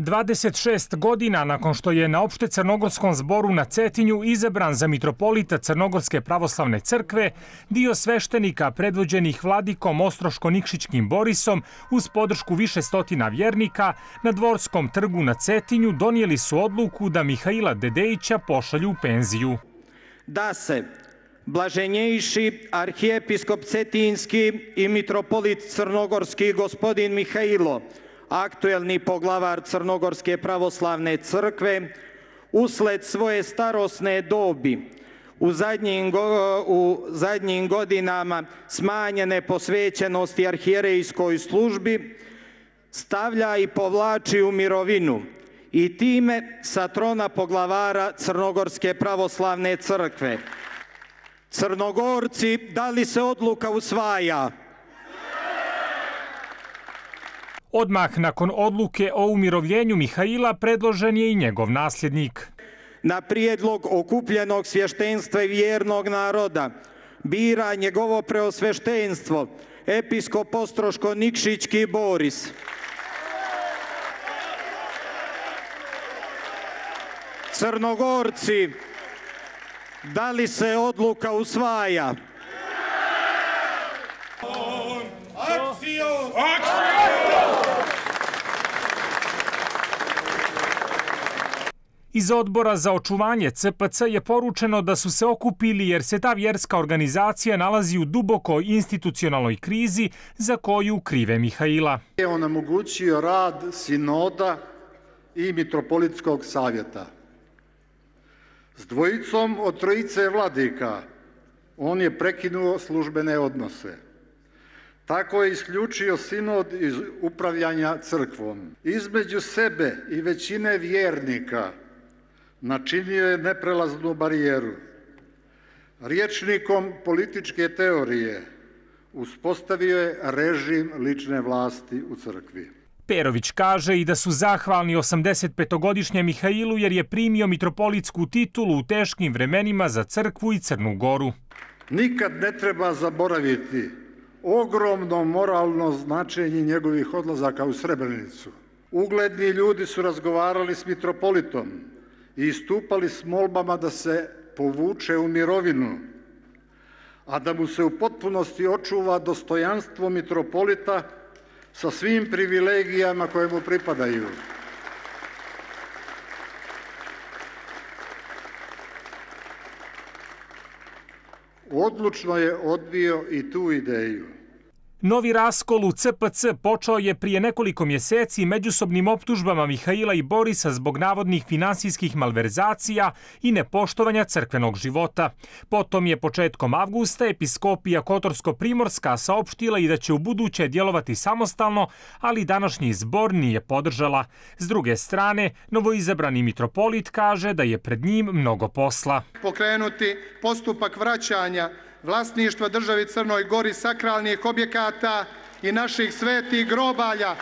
26 godina nakon što je na opšte crnogorskom zboru na Cetinju izabran za mitropolita Crnogorske pravoslavne crkve, dio sveštenika predvođenih vladikom Ostroško-Nikšićkim Borisom uz podršku više stotina vjernika na Dvorskom trgu na Cetinju donijeli su odluku da Mihaila Dedejića pošalju u penziju. Da se blaženjejši arhijepiskop Cetinski i mitropolit Crnogorski gospodin Mihailo, aktuelni poglavar Crnogorske pravoslavne crkve, usled svoje starosne dobi u zadnjim godinama smanjene posvećenosti arhijerejskoj službi, stavlja i povlači u mirovinu i time sa trona poglavara Crnogorske pravoslavne crkve. Crnogorci, da li se odluka usvaja? Odmah nakon odluke o umirovljenju Mihaila predložen je i njegov nasljednik. Na prijedlog okupljenog svještenstva i vjernog naroda bira njegovo preosveštenstvo episkop Ostroško-Nikšićki Boris. Crnogorci, da li se odluka usvaja? Iz Odbora za očuvanje CPC je poručeno da su se okupili jer se ta vjerska organizacija nalazi u dubokoj institucionalnoj krizi za koju krive Mihaila. Je onemogućio rad sinoda i mitropolitskog savjeta. S dvojicom od trojice vladika on je prekinuo službene odnose. Tako je isključio sinod iz upravljanja crkvom. Između sebe i većine vjernika načinio je neprelaznu barijeru. Rječnikom političke teorije uspostavio je režim lične vlasti u crkvi. Perović kaže i da su zahvalni 85-godišnjem Mihailu jer je primio mitropolitsku titulu u teškim vremenima za crkvu i Crnu Goru. Nikad ne treba zaboraviti ogromno moralno značenje njegovih odlazaka u Srebrenicu. Ugledni ljudi su razgovarali s mitropolitom i istupali s molbama da se povuče u mirovinu, a da mu se u potpunosti očuva dostojanstvo mitropolita sa svim privilegijama koje mu pripadaju. Odlučno je odbio i tu ideju. Novi raskol u CPC počeo je prije nekoliko mjeseci međusobnim optužbama Mihaila i Borisa zbog navodnih finansijskih malverzacija i nepoštovanja crkvenog života. Potom je početkom avgusta episkopija Kotorsko-Primorska saopštila i da će ubuduće djelovati samostalno, ali današnji zbor nije podržala. S druge strane, novoizabrani mitropolit kaže da je pred njim mnogo posla. Pokrenuti postupak vraćanja vlasništva državi Crnoj Gori sakralnih objekata i naših svetih grobalja.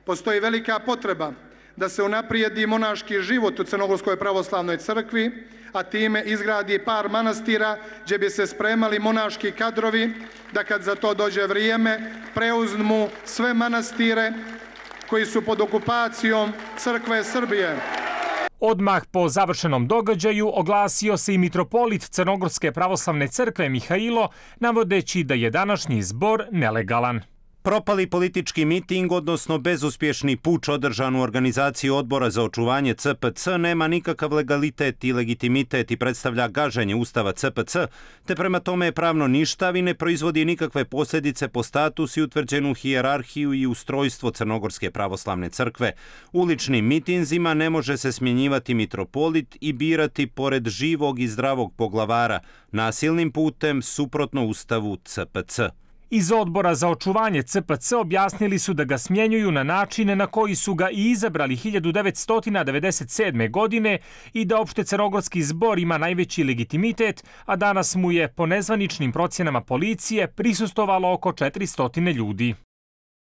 Postoji velika potreba da se unaprijedi monaški život u Crnogorskoj pravoslavnoj crkvi, a time izgradi par manastira gdje bi se spremali monaški kadrovi da kad za to dođe vrijeme preuzmu sve manastire koji su pod okupacijom Crkve Srbije. Odmah po završenom događaju oglasio se i mitropolit Crnogorske pravoslavne crkve Mihailo, navodeći da je današnji zbor nelegalan. Propali politički miting, odnosno bezuspješni puč održan u organizaciji Odbora za očuvanje CPC, nema nikakav legalitet i legitimitet i predstavlja gaženje Ustava CPC, te prema tome je pravno ništav i ne proizvodi nikakve posljedice po status i utvrđenu hijerarhiju i ustrojstvo Crnogorske pravoslavne crkve. Uličnim mitinzima ne može se smjenjivati mitropolit i birati pored živog i zdravog poglavara, nasilnim putem suprotno Ustavu CPC. Iz Odbora za očuvanje CPC objasnili su da ga smjenjuju na načine na koji su ga i izabrali 1997. godine i da opšte crnogorski zbor ima najveći legitimitet, a danas mu je po nezvaničnim procjenama policije prisustvovalo oko 400 ljudi.